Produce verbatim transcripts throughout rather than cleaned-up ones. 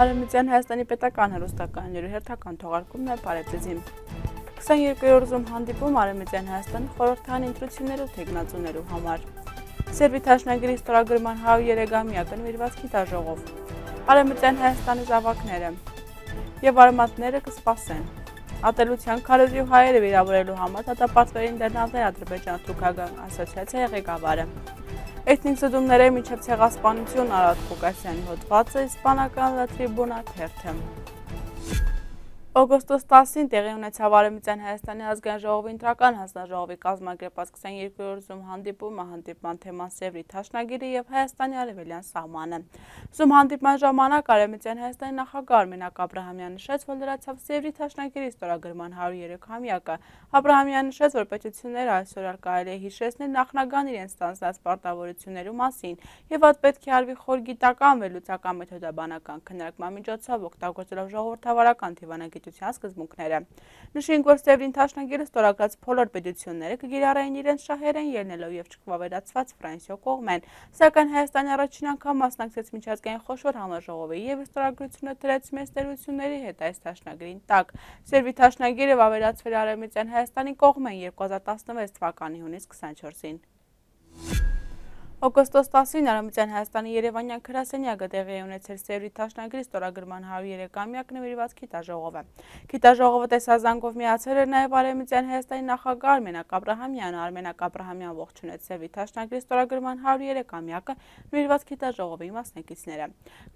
Արևմտյան Հայաստանի պետական հեռուստականների հերթական թողարկումն է Պարեպտեզին։ քսաներկու զում հանդիպում Արևմտյան Հայաստանի խորհրդային ընտրություններու թեկնածուներու համար։ Սերբի դաշնագրի ստորագրման հարյուրերեգամյակը նվիրված գիտաժողով։ Արևմտյան Հայաստանի զավակները եւ արմատները կսպասեն։ Ատելության քարոզի հայերը վիրավորելու համար դատապարտվերին դեռնալներ Ադրբեջան-Թուրքական ասոցիացիայի ղեկավարը։ Էթնիկ զդումների միջև ցեղասպանություն Արարատ Ղուկասյանի հոդվածը իսպանական La Tribuna թերթը։ Օգոստոս տասին տեղի ունեցավ Արևմտյան Հայաստանի ազգային ժողովի ընտրական հանձնաժողովի կազմակերպած քսաներկու զում հանդիպումը հանդիպման թեման Սևրի դաշնագիրը եւ Հայաստանի արևելյան սահմանը։ Զում հանդիպման ժամանակ Արևմտյան Հայաստանի նախագահ Արմենակ Աբրահամյանը նշեց, որ լրացավ Սևրի դաշնագիրի ստորագրման հարյուրերեքամյակը։ Աբրահամյանը նշեց, որ պետությունները այսօր կարելի է հիշեցնել նախնական իրենց ստանձնած պարտավորություններու մասին եւ այդ պետք է արվի խոր գիտական վերլուծական մեթոդաբանական քննարկման միջոցով օգտագործելով ժողովրդավարական դիվանագիտության սկզբունքները։ Նշենք, որ Սևրին դաշնագիրը ստորագրած բոլոր պետությունները կգիրառեին իրենց շահերեն ելնելով եւ չկվավերացված Ֆրանսիո կողմեն, սակայն Հայաստանի առաջին անգամ մասնակցեց միջազգային խոշոր համաժողովի եւ ստորագրությունը դրեց մեծ տերությունների հետ այս դաշնագրին տակ։ Սերբի դաշնագիրը վավերացվել Արևմտյան Հայաստանի կողմեն երկու հազար տասնվեց թվականի հունիս քսաներկուսին։ Օգոստոս տասին Արևմտյան Հայաստանի Երևանյան գրասենյակը տեղի ունեցել Սևրի դաշնագրի ստորագրման հարյուրերեքամյակ նվիրված գիտաժողովը։ Գիտաժողովը տեսազանգով միացել էր նաև Արևմտյան Հայաստանի նախագահ Արմենակ Աբրահամյանը։ Արմենակ Աբրահամյանը ողջունեց Սևրի դաշնագրի ստորագրման հարյուրերեքամյակը նվիրված գիտաժողովի մասնակիցները։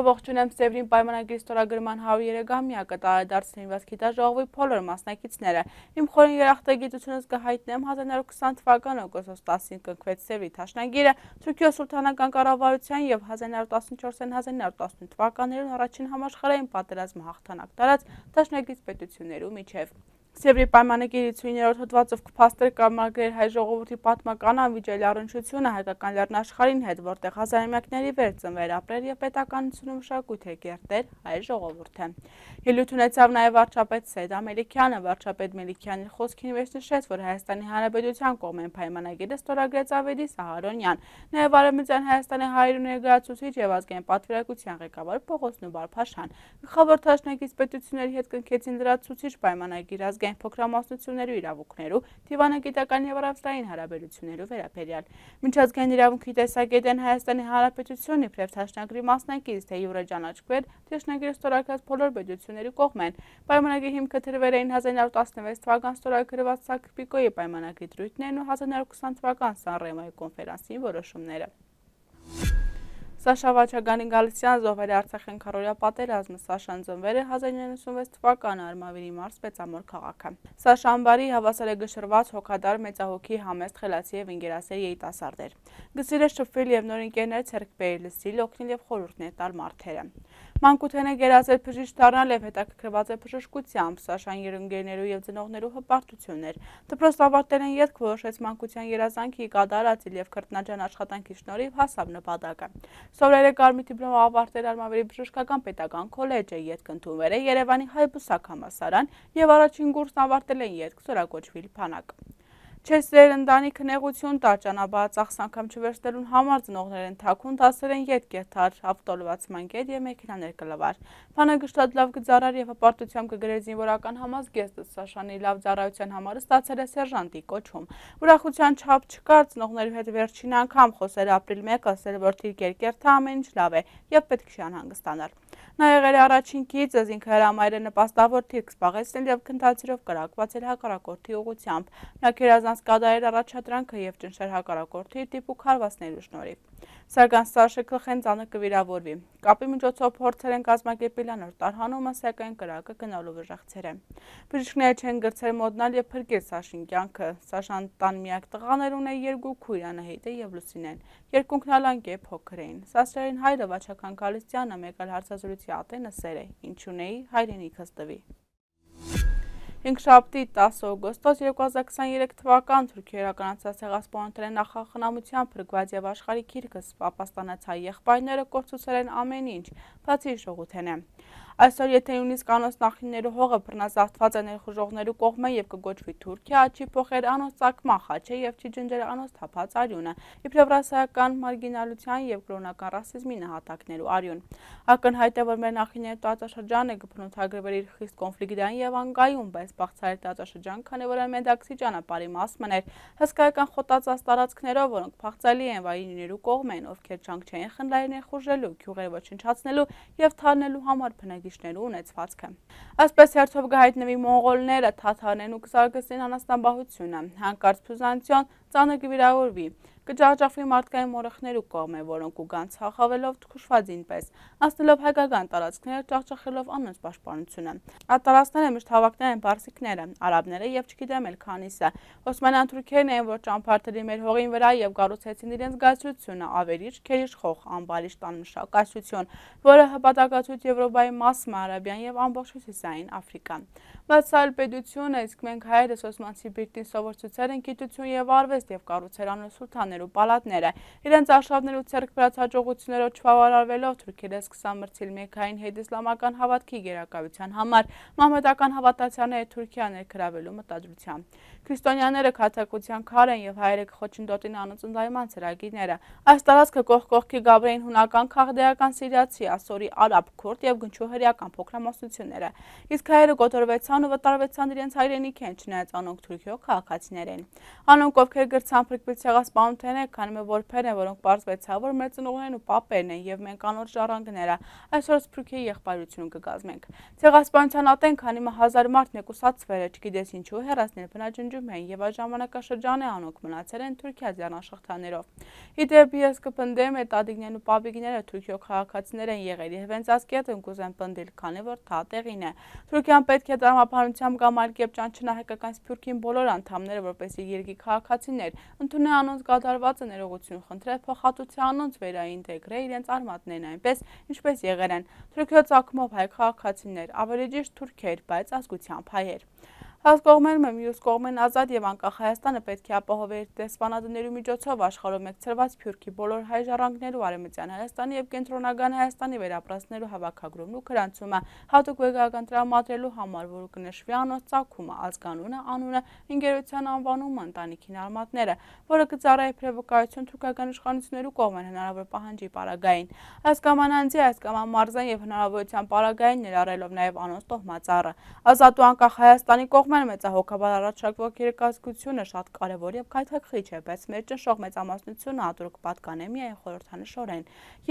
Կողջունեմ Սևրին պայմանագրի ստորագրման հարյուրերեքամյակը տարեդարձ նվիրված գիտաժողովի բոլոր մասնակիցները։ Իմ խորին երախտագիտությունս կհայտնեմ հազար նորը քսան թվականի օգոստոս տասին կնքվեց Սևրի դաշնագիրը Թուրքիո Սուլթանական կառավարության եւ հազար նորը տասնչորսին հազար նորը տասնութ թվականներուն առաջին համաշխարհային պատերազմը հաղթանակ տարած դաշնագրից պետություններու միջև։ Սևրի պայմանագիրություններորդ հոդվածով կփաստեր կամակերպել հայ ժողովրդի պատմական անվիճելի առնչությունը հայկական լեռնաշխարհին հետ, որտեղ հազարամյակների վեր ծնվել ապրել եւ պետականությունը մշակույթ է կերտել հայ ժողովուրդը։ Ելույթ ունեցավ նաեւ վարչապետ Սեյդ Ամելիքյանը, վարչապետ Մելիքյանի խոսքին մեջ նշեց, որ Հայաստանի Հանրապետության կողմեն պայմանագիրը ստորագրեց Ավետիս Սահարոնյան, նաեւ Արևմտյան Հայաստանի հայրենի ներկայացուցիչ եւ ազգային պատվիրակության ղեկավար Պողոս Նուբար-Փաշան։ Գլխավոր դաշնակից պետությունների հետ կնքեցին լրացուցիչ պայմանագիր ազգային փոքրամասնություններու իրավունքներու, դիվանագիտական եւ առևտրային հարաբերություններու վերաբերյալ։ Միջազգային իրավունքի տեսակետեն Հայաստանի Հանրապետությունը իբրև դաշնագրի մասնակից թե յուրե ճանաչվել դաշնագրի ստորագրած բոլոր պետությունների կողմեն։ Պայմանագրի հիմքը դրվել էին հազար նորը տասնվեց թվական ստորագրված Սակր-Պիկոյի պայմանագրի դրույթներն ու հազար նորը քսան թվական Սան Ռեմոյի կոնֆերանսի որոշումները։ Սաշա Վաչագանի Գալստյան զոհվել է Արցախյան քարոզիա պատերազմը։ Սաշան ծնվել է հազար նորը նվեցունվեց թվականը Արմավիրի մարզ Պետամոր քաղաքը։ Սաշան բարի հավասար է գշրված հոգադար մեծահոգի համեստ խելացի եւ ընկերասեր երիտասարդ էր։ Գսիր է շփվել եւ նոր ընկերներ ցերկ բերել, լսել, օգնել եւ խորհուրդներ տալ մարդերը։ Մանկութեն է գերազել բժիշկ դառնալ եւ հետաքրքրված է բժշկությամբ։ Սաշան երընկերներու եւ ծնողներու հպարտություններ։ Դպրոց ավարտել են ետք որոշեց մանկության երազանքի կատարածել եւ քրտնաջան աշխատանքի շնորհիվ հասավ նպատակը։ Սովորել է Կարմիր դիպլոմ ավարտել Արմավիրի բժշկական պետական քոլեջը, ետք ընդունվել է Երևանի Հայ բուսակ համալսարան եւ առաջին կուրսն ավարտել են ետք Զորագոչվիլ Փանակ։ Չեսեր ընտանիքը նեղություն տար ճանապարհածախս անգամ չվերցնելուն համար ծնողներ են թաքուն դասել են ետք երթար ավտոլվացման կետ եւ մեքենաներ կլվար։ Փանակը շատ լավ գծարար եւ հպարտությամբ կգրեր զինվորական համազգեստը Սաշանի լավ ծառայության համար ստացել է սերժանտի կոչում։ Ուրախության չափ չկար ծնողներու հետ վերջին անգամ խոսել ապրիլ մեկը, ասել որ թիրքեր կերթը ամեն ինչ լավ է եւ պետք չի անհանգստանալ։ Նա եղել է առաջին կիցը ինքը հրամայել է նպաստավոր թիրք զբաղեցնել եւ քննադատելով կրակվածել հակառակորդի ուղղությամբ։ Նա քերազանց կադարել առաջադրանքը եւ ճնշել հակառակորդի տիպուկ հարվածներու շնորհիվ։ Սակայն Սաշը Քլխենցանը կվիրավորվի։ Կապի միջոցով փորձել են կազմակերպել անոր տարհանումը, սակայն կրակը գնալու վժեղցեր է։ Բժիշկները չեն գրծել մոդնալ եւ փրկել Սաշին կյանքը։ Սաշան տան միակ տղաներ ունե երկու քույր Անահիտը եւ Լուսինեն։ Երկունքն ալանկե փոքր էին։ Սասրերին հայրը Վաչական Գալստյանը մեկ այլ հարցազրույցի ատենը սեր է։ Ինչ ունեի հայրենիքս տվի։ Հինգշաբթի տասը օգոստոս երկու հազար քսաներեք թվական Թուրքիա իրականացած ցեղասպանության նախախնամությամբ փրկված եւ աշխարհի քիրքս ապաստանած հայ եղբայրները կորցուցել են ամեն ինչ, բացի շողութենը։ Այսօր եթե նույնիսկ անոնց նախնիներու հողը բռնազավթված է ներխուժողներու կողմէ եւ կգոչվի Թուրքիա, չի փոխեր անոնց ծագման խաչը եւ չի ջնջեր անոնց թափած արյունը, իբրև ռասայական մարգինալության եւ կրոնական ռասիզմի նահատակներու արյուն։ Ակնհայտ է, որ մեր նախնիների տարածաշրջանը կփնութագրվեր իր խիստ կոնֆլիկտային եւ անկայուն, բայց բաղցարի տարածաշրջան, քանի որ ամենդակցի ճանապարհի մասն էր, հսկայական խոտածած տարածքներով, որոնք փախծալի են վայրիներու կողմեն, ովքեր չանք չէին խնդրել ներխուժելու, գյուղերը ոչնչացնելու եւ թալնելու համար բնակիչներու ունեցվածքը։ Այսպես հերթով կհայտնվի մոնղոլները, թաթարներն ու կզարգացնեն անասնաբահությունը, հանկարծ Բյուզանդիոն ծանր կվիրավորվի, կջախջախվի մարդկային մորախներու կողմէ, որոնք ուգան ցախավելով քշված ինպես, անցնելով հայկական տարածքները, ջախջախելով անոնց պաշտպանությունը։ Այդ տարածքները միշտ հավաքներ են պարսիկները, արաբները եւ չգիտեմ էլ քանիսը։ Օսմանյան թուրքերն էին, որ ճամփորդելի մեր հողին վրա եւ կառուցեցին իրենց գայսրությունը, ավերիչ, քերիշխող, ամբալիշ տանմշակայություն, որը հպատակացույց Եվրոպայի մասը, Արաբիան եւ ամբողջ Հյուսիսային Աֆրիկան։ Բայց սա էլ պետությունը, իսկ մենք հայերս Օսմանցի բիրտին սովորեցուցել են գիտություն եւ արվեստ եւ կառուցել անոնց սուլթաններու պալատները, իրենց արշավներու ցերկ բերած հաջողություններով չվավարարվելով թուրքերը սկսան մրցել Մեքքային հետիսլամական հավատքի գերակայության համար մահմեդական հավատացյալները Թուրքիա ներգրավելու մտադրությամբ։ Քրիստոնյաները քաթակության քար են եւ հայերը կխոչընդոտին անոնց ընդայման ծրագիրները։ Այս տարածքը կողք կողքի գաբրեին հունական, քաղդեական, սիրիացի, ասորի, արաբ, քուրդ եւ գնչու հրեական փոքրամասնությունները։ Իսկ հայերը կոտորվեցան ու վտարվեցան իրենց հայրենիքեն, չնայած անոնք թուրքիո քաղաքացիներ են։ Անոնք ովքեր գրցան փրկվել ցեղասպանութենը, քանի մը որբեր են, որոնք պարզվեցավ, որ մեր ծնողներն ու պապերն են եւ մենք անոր ժառանգները, այսօր սփյուռքի եղբայրություն կգազմենք։ Ցեղասպանության ատեն, քանի մը հազար մարդ մեկուսացվել է, չգիտես ինչու հեռացնել բնաջնջում են եւ այդ ժամանակաշրջանը անոնք մնացել են Թուրքիա ձեռնաշխատաներով։ Իդեպ ես կպնդեմ է տատիկներն ու պապիկները թուրքիո քաղաքացիներ են եղել եւ հենց ասկետ են կուզեն պնդել, քանի որ թա տեղին է։ Թուրքիան պետք է տրամաբանությամբ կամ այլ կերպ ճանչնա հայկական սփյուռքին բոլոր անդամները, որպեսզի երկի քաղաքացիներ ընդունեն անոնց կատարվածը ներողություն խնդրել, փոխհատուցի անոնց վերաինտեգրել իրենց արմատներն այնպես, ինչպես եղել են թուրքիո ծագումով հայ քաղաքացիներ, ավելի ճիշտ թուրքեր, բայց ազգությամբ հայեր։ Այս կողմերում եմ մյուս կողմեն ազատ եւ անկախ Հայաստանը պետք է ապահովի իր դեսպանատների միջոցով աշխարհով մեկցրված Սփյուռքի բոլոր հայ ժառանգներու Արևմտյան Հայաստանի եւ Կենտրոնական Հայաստանի վերապրածներու հավաքագրումն ու գրանցումը հատուկ վեգական տրամադրելու համար, որ կնշվի անոնց ծագումը, ազգանունը, անունը, ընկերության անվանումը, ընտանիքին արմատները, որը կծառայի փրկվկայություն թուրքական իշխանություններու կողմեն հնարավոր պահանջի պարագային։ Այս կամ անձի, այս կամ մարզային եւ հնարավորության պարագային ներառելով նաեւ անոնց տոհմածառը։ Ազատ ու անկախ Հայաստանի կողմը մեծահոգաբար առաջարկվող երեկազգությունը շատ կարևոր եւ քայթակղիչ է, բայց մեր ճնշող մեծամասնությունը ատորք պատկանե միայն խորհրդանշորեն։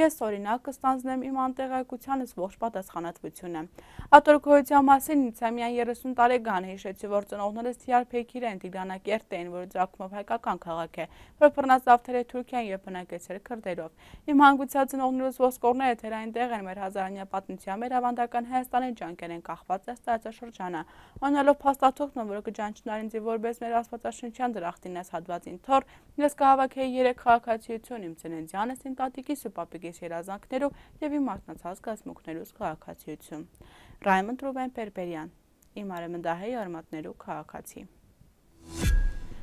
Ես օրինակ կստանձնեմ իմ անտեղայնությունս ողջ պատասխանատվությունը։ Ատորքոյության մասին ինձ միայն երեսուն տարեկան է, հիշեցի, որ ծնողներս Դիարբեքիր են, Տիգրանակերտ էին, որը ծագումով հայկական քաղաք է, որ բռնազավթել է Թուրքիան եւ բնակեցել քրդերով։ Իմ հանգուցյալ ծնողներս ոսկորները թերային տեղ են մեր հազարամյա պատմության, մեր ավանդական Հայաստանի ջանքեր են կախված այս տարածաշրջանը։ Անելով փաստաթուղթը, որը կճանչնար ինձ որպես մեր աստվածաշնչյան դրախտին այս հատվածին թոր, ես կհավաքեի երեք քաղաքացիություն իմ ծննդյանս, իմ տատիկիս ու պապիկիս երազանքներով եւ իմ արթնացած կազմուկներուց քաղաքացիություն։ Ռայմոնդ Ռուբեն Պերպերյան, իմ արևմտահայ արմատներու քաղաքացի։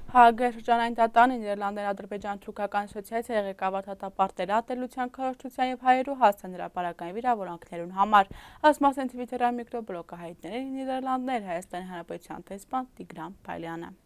Հաագեր շրջանային դատան Նիդերլանդներ Ադրբեջան-թուրքական ասոցիացիայի ղեկավար դատապարտել ատելության քարոզչության եւ հայերու հասցեն հրապարակային վիրավորանքներուն համար։ Այս մասին Twitter-ային միկրոբլոգը հայտնել է Նիդերլանդներ Հայաստանի Հանրապետության տեսփան Տիգրան Փայլյանը։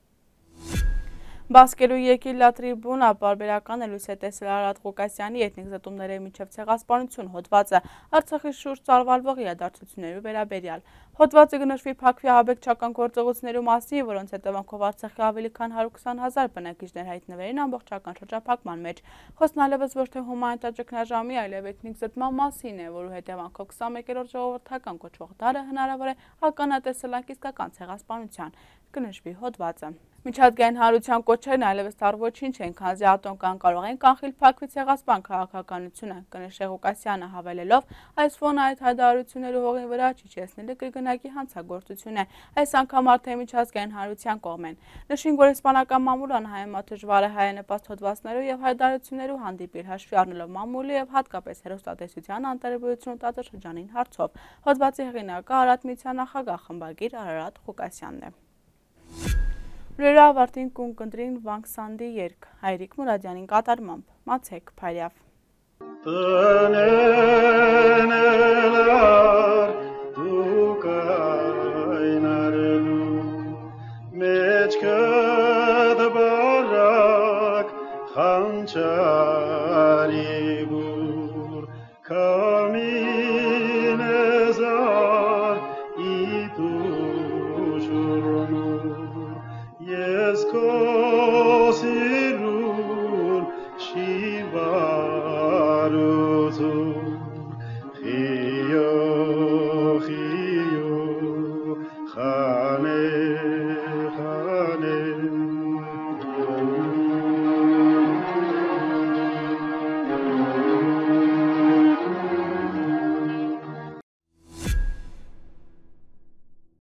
Բասկելու երկիր լա տրիբունա բարբերական է լույս է տեսել Արարատ Ղուկասյանի էթնիկ զտումների միջև ցեղասպանություն հոդվածը Արցախի շուրջ ծավալվող իրադարձություններու վերաբերյալ։ Հոդվածը կնշվի Փակվի ահաբեկչական գործողություններու մասին, որոնց հետևանքով Արցախի ավելի քան հարյուր քսան հազար բնակիչներ հայտնվել են ամբողջական շրջափակման մեջ։ Խոսքն այլևս ոչ թե հումանիտար ճգնաժամի, այլև էթնիկ զտման մասին է, որու հետևանքով քսաներորդ ժողովրդական կոչվող դարը հնարավոր է ականատեսել անկիսկական ցեղասպանության, կնշվի հոդվածը։ Միջազգային հանրության կոչերն այլևս դեռ ոչինչ են, քանզի ատոմկան կարող են կանխել Փակվի ցեղասպան քաղաքականությունը, կնշե Ղուկասյանը հավելելով, այս ֆոնը այդ հայտարարությունները հողին վրա չիջեցնելը կրկնակի հանցագործություն է, այս անգամ արդեն միջազգային հանրության կողմեն։ Նշենք, որ իսպանական մամուլը անհայեմատ դժվար է հայանպաստ հոդվածներով եւ հայտարարություններով հանդիպել, հաշվի առնելով մամուլի եւ հատկապես հեռուստատեսության անտարբերությունը տարածաշրջանային հարցով։ Հոդվածի հեղինակը Արարատ միության նախագահ խմբագիր Արարատ Ղուկասյանն է։ Լուրերը ավարտին կունկնդրին Վանք Սանդի երգ, Հայրիկ Մուրադյանին կատարմամբ, Մացեք Փարյավ։ Minezar itushurnur yes kosirur shiva